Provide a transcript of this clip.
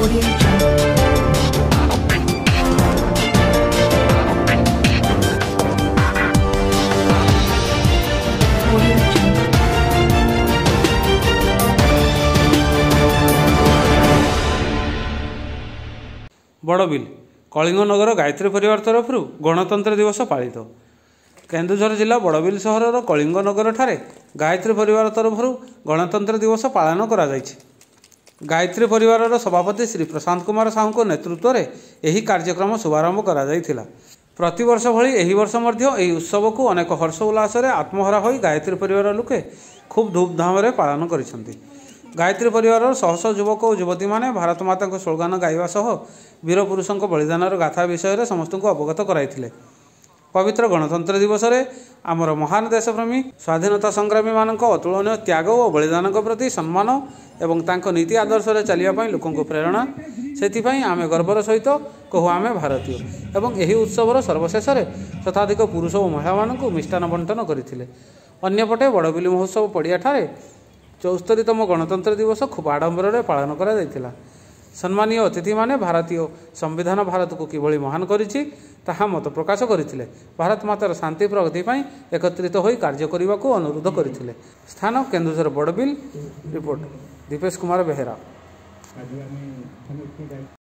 Audio Jungle. Audio Jungle. Barbil Kalinganagar Gayatri ପରିବାର ତରଫରୁ ଗଣତନ୍ତ୍ର ଦିବସ ପାଳିତ। କେନ୍ଦୁଝର ଜିଲ୍ଲା ବଡ଼ବିଲ ସହରର କଳିଙ୍ଗନଗରଠାରେ ଗାୟତ୍ରୀ ପରିବାର ତରଫରୁ ଗଣତନ୍ତ୍ର ଦିବସ ପାଳନ କରାଯାଇଛି। ଗାୟତ୍ରୀ ପରିବାରର ସଭାପତି ଶ୍ରୀ ପ୍ରଶାନ୍ତ କୁମାର ସାହୁଙ୍କ ନେତୃତ୍ୱରେ ଏହି କାର୍ଯ୍ୟକ୍ରମ ଶୁଭାରମ୍ଭ କରାଯାଇଥିଲା। ପ୍ରତିବର୍ଷ ଭଳି ଏହି ବର୍ଷ ମଧ୍ୟ ଏହି ଉତ୍ସବକୁ ଅନେକ ହର୍ଷ ଉଲ୍ଲାସରେ ଆତ୍ମହରା ହୋଇ ଗାୟତ୍ରୀ ପରିବାର ଲୋକେ ଖୁବ୍ ଧୁମଧାମରେ ପାଳନ କରିଛନ୍ତି। ଗାୟତ୍ରୀ ପରିବାରର ଶହ ଶହ ଯୁବକ ଓ ଯୁବତୀମାନେ ଭାରତ ମାତାଙ୍କ ସ୍ଲୋଗାନ ଗାଇବା ସହ ବୀରପୁରୁଷଙ୍କ ବଳିଦାନର ଗାଥା ବିଷୟରେ ସମସ୍ତଙ୍କୁ ଅବଗତ କରାଇଥିଲେ। ପବିତ୍ର ଗଣତନ୍ତ୍ର ଦିବସରେ ଆମର ମହାନ ଦେଶପ୍ରେମୀ ସ୍ୱାଧୀନତା ସଂଗ୍ରାମୀମାନଙ୍କ ଅତୁଳନୀୟ ତ୍ୟାଗ ଓ ବଳିଦାନଙ୍କ ପ୍ରତି ସମ୍ମାନ ଏବଂ ତାଙ୍କ ନୀତି ଆଦର୍ଶରେ ଚାଲିବା ପାଇଁ ଲୋକଙ୍କୁ ପ୍ରେରଣା, ସେଥିପାଇଁ ଆମେ ଗର୍ବର ସହିତ କହୁ ଆମେ ଭାରତୀୟ। ଏବଂ ଏହି ଉତ୍ସବର ସର୍ବଶେଷରେ ଶତାଧିକ ପୁରୁଷ ଓ ମହିଳାମାନଙ୍କୁ ମିଷ୍ଟାନ୍ନ ବଣ୍ଟନ କରିଥିଲେ। ଅନ୍ୟପଟେ ବଡ଼ବିଲ ମହୋତ୍ସବ ପଡ଼ିଆଠାରେ 74ତମ ଗଣତନ୍ତ୍ର ଦିବସ ଖୁବ୍ ଆଡ଼ମ୍ବରରେ ପାଳନ କରାଯାଇଥିଲା। ସମ୍ମାନୀୟ ଅତିଥିମାନେ ଭାରତୀୟ ସମ୍ବିଧାନ ଭାରତକୁ କିଭଳି ମହାନ କରିଛି ତାହା ମତ ପ୍ରକାଶ କରିଥିଲେ। ଭାରତ ମାତାର ଶାନ୍ତି ପ୍ରଗତି ପାଇଁ ଏକତ୍ରିତ ହୋଇ କାର୍ଯ୍ୟ କରିବାକୁ ଅନୁରୋଧ କରିଥିଲେ। ସ୍ଥାନ କେନ୍ଦୁଝର ବଡ଼ବିଲ, ରିପୋର୍ଟ ଦୀପେଶ କୁମାର ବେହେରା। ଆଜି ଆମେ ସମସ୍ତେ